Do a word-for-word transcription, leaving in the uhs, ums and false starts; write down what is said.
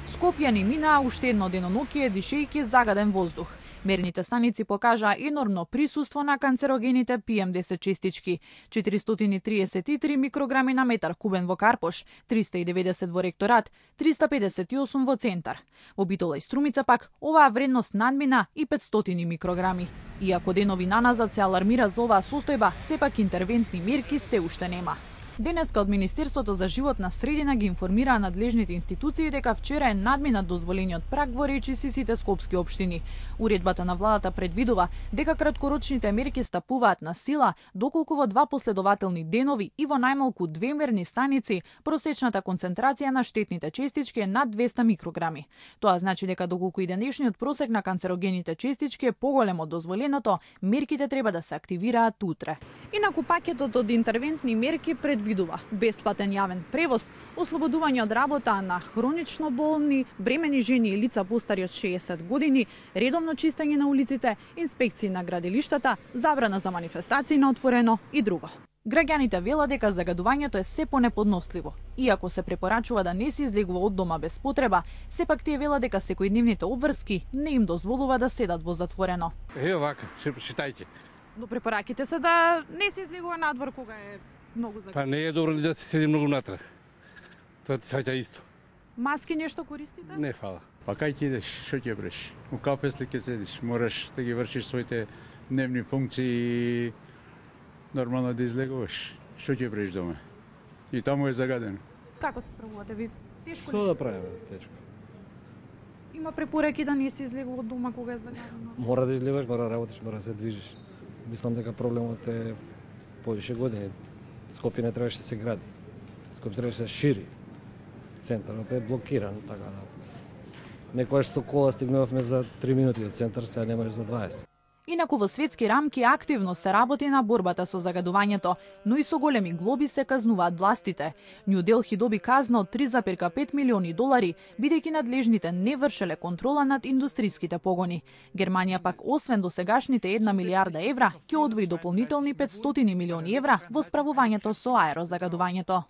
Скопјани минаа уште едно деноноќие дишејќи загаден воздух. Мерните станици покажаа енормно присуство на канцерогените пи ем десет честички. четиристотини и триесет и три микрограми на метар кубен во Карпош, триста и деветдесет во Ректорат, триста педесет и осум во Центар. Во Битола и Струмица пак оваа вредност надмина и петстотини микрограми. Иако денови наназад се алармира за оваа состојба, сепак интервентни мерки се уште нема. Денеска од Министерството за животна средина ги информираа надлежните институции дека вчера е надминат дозволениот праг во речисите скопски општини. Уредбата на владата предвидува дека краткорочните мерки стапуваат на сила доколку во два последователни денови и во најмалку две мерни станици просечната концентрација на штетните честички е над двеста микрограми. Тоа значи дека доколку и денешниот просек на канцерогените честички е поголем од дозволеното, мерките треба да се активираат утре. Инаку пакетот од интервентни мерки предвидува бесплатен јавен превоз, ослободување од работа на хронично болни, бремени жени и лица постари од шеесет години, редовно чистење на улиците, инспекции на градилиштата, забрана за манифестации на отворено и друго. Граѓаните велат дека загадувањето е се понеподносливо. Иако се препорачува да не се излегува од дома без потреба, сепак тие велат дека секојдневните обврски не им дозволува да седат во затворено. Е, вака, читајте. Но препораките се да не се излегува надвор кога е многу загадено. Па не е добро да се седи многу натре. Тоа ти саѓа исто. Маски нешто користите? Не, фала. Па кај ќе идеш, што ќе бреш? У кафесли ќе седиш, мораш да ги вршиш своите дневни функции, нормално да излегуваш. Што ќе бреш дома? И таму е загадено. Како се справувате ви? Тешко Што ли? да правиме? Тешко. Има препораки да не се излегува од дома кога е загадено. Мора да излегуваш, мора да работиш, мора да се движиш. Мислам дека проблемот е повише години. Скопје не требаше да се гради. Скопје требаше да се шири. Центарот е блокиран, така да. Некојаш со кола стигнувавме за три минути од центар, сега немаш за дваесет. Инаку во светски рамки активно се работи на борбата со загадувањето, но и со големи глоби се казнуваат властите. Нью Делхи доби казна од три зарез пет милиони долари, бидејќи надлежните не вршеле контрола над индустриските погони. Германија пак, освен досегашните една милијарда евра, ќе одвои дополнителни петстотини милиони евра во справувањето со аерозагадувањето.